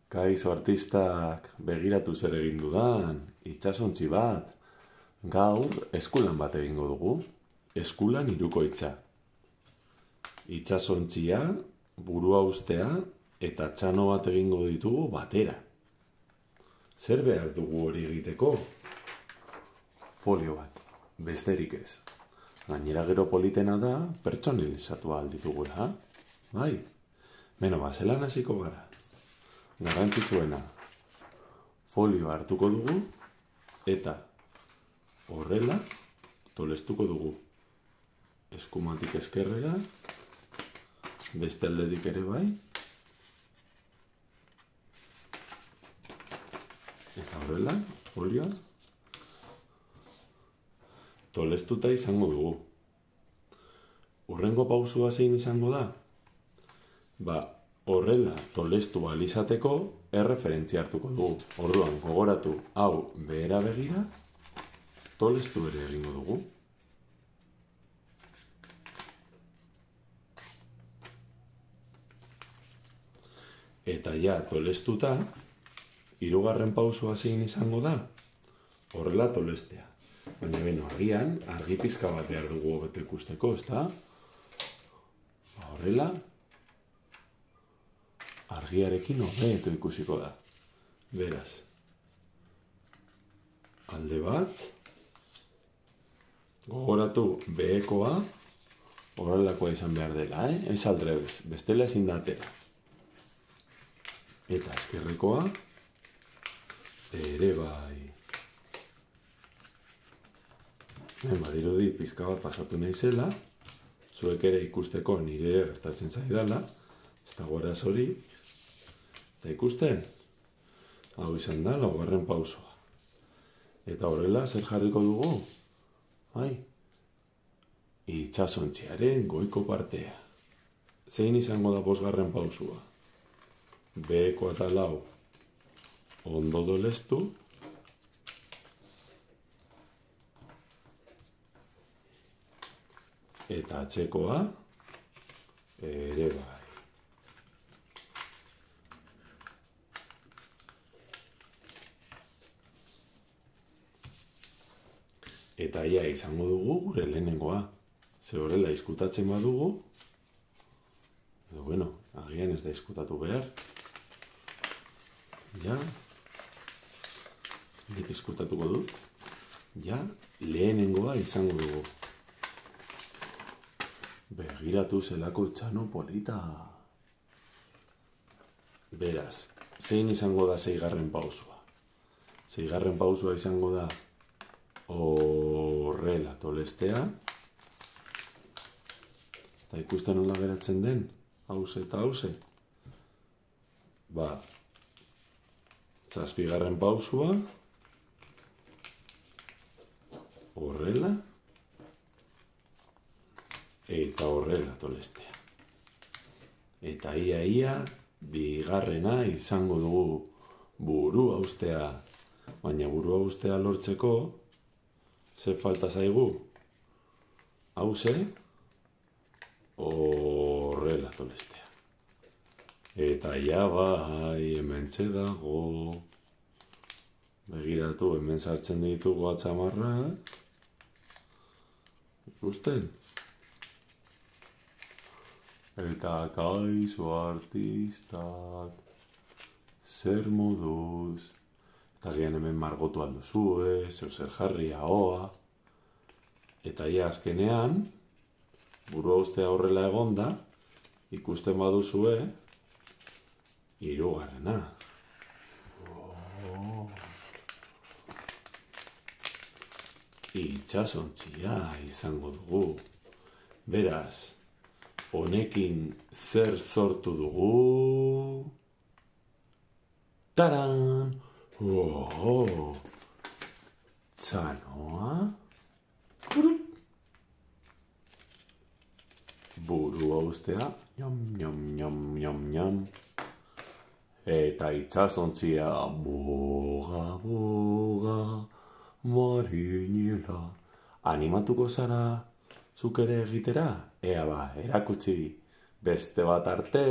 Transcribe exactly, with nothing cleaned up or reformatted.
Kaixo artistak, begiratu zer egin dudan, itsasontzi bat. Gaur eskulan bat egingo dugu, eskulan hirukoitza. Itsasontzia, burua ustea eta txano bat egingo ditugu batera. Zer behar dugu hori egiteko? Folio bat, besterik ez. Gainera gero politena da, pertsonalizatu ahal ditugula. Bai, beno ba, zelan hasiko gara. Garrantzitsuena, folio hartuko dugu eta horrela tolestuko dugu. Eskumatik eskerrera, beste aldetik ere bai. Eta horrela, folioa tolestuta izango dugu. Hurrengo pausua zein izango da? Ba, horrela tolestu ahal izateko erreferentzia hartuko dugu. Orduan, gogoratu hau behera begira, tolestu ere egingo dugu. Eta ja, tolestuta, hirugarren pausua zein izango da? Horrela tolestea. Baina beno, agian, argi pizka bat behar dugu hobeto ikusteko, ezta? Horrela, argiarekin hobeto ikusiko da. Beraz, alde bat, gogoratu behekoa, horrelakoa izan behar dela, eh? Ez aldrebes, bestela ezin da atera. Eta eskerrekoa, ere bai. Ben, badirudi pizka bat pasatu naizela, zuek ere ikusteko nire gertatzen zaidala, ez da gora zori, eta ikusten, hau izan da, laugarren pausoa. Eta horrela, zer jarriko dugu? Bai, itsasontziaren goiko partea. Zein izango da bosgarren pausua? Beheko eta lau ondo dolestu, eta atzekoa ere bai. Eta ia izango dugu gure lehenengoa. Ze horrela izkutatzen badugu, edo bueno, agian ez da izkutatu behar. Ja, nik izkutatuko dut. Ja, lehenengoa izango dugu. Begiratu zelako txano polita. Beraz, zein izango da zeigarren pausua? Zeigarren pausua izango da horrela tolestea. Eta ikusten nola geratzen den, hauze eta hauze. Ba, zazpigarren pausua, horrela, eta horrela tolestea. Eta ia-ia, bigarrena izango dugu burua ustea. Baina burua ustea lortzeko, ze falta zaigu? Hauze, horrela tolestea. Eta ja bai, hementxe dago. Begiratu, hemen sartzen ditugu atzamarrak. Ikusten? Eta kaixo artistak, zer moduz, eta gian hemen margotu alduzue, zeu zer jarri ahoa. Eta ja azkenean, burua ustea horrela egonda, ikusten baduzue, hirugarrena. Oh. Itsasontzia izango dugu. Beraz, honekin zer sortu dugu? Taran! Oh, txanoa? Burua ustea, nyam, nyam, nyam, nyam, nyam. Eta itsasontzia, boga, boga, marinela. Animatuko zara zuk ere egitera? Ea ba, erakutsi beste bat arte.